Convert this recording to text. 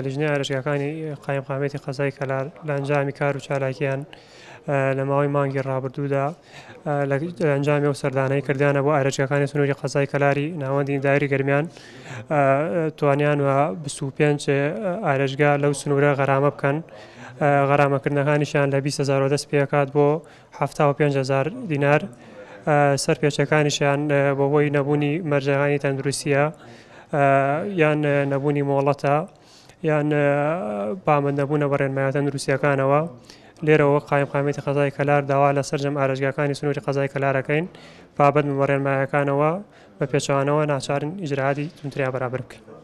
لیژنەی ئارێزگاکانی قایمقامیەتی قەزای کەلار لە ئەنجامی کار و چالاکیان لە ماوەی مانگی ڕابردوودا لە ئەنجامی ئەو سەردانەی کردیانە بۆ ئارێزگاکانی سنووری قەزای کەلاری ناوەندی دایری گەرمیان توانیان و 25 ئارێزگا لەو سنوورە غەرامە بکەن. غەرامەکردنەکانیشیان لە 20 هەزارەوە دەست پێکات بۆ 75 هەزار دینار. سەرپێچەکانیشیان بەهۆی نەبوونی مەرجەکانی تەندروستیە یان نەبوونی مۆڵەتە یان پابەند نەبوونە بە ڕێنمایە تەندروستیەکانەوە. لێرەوە وەک قایمقامیەتی قەزای کەلار داوا لە سەرجەم ئارێزگاکانی سنووری قەزای کەلارەکەین پابەند بن بە ڕێنمایەکانەوە، بە پێچەوانەوە ناچارن ئیجرائاتی توندتریان بەرامبەر بکەین.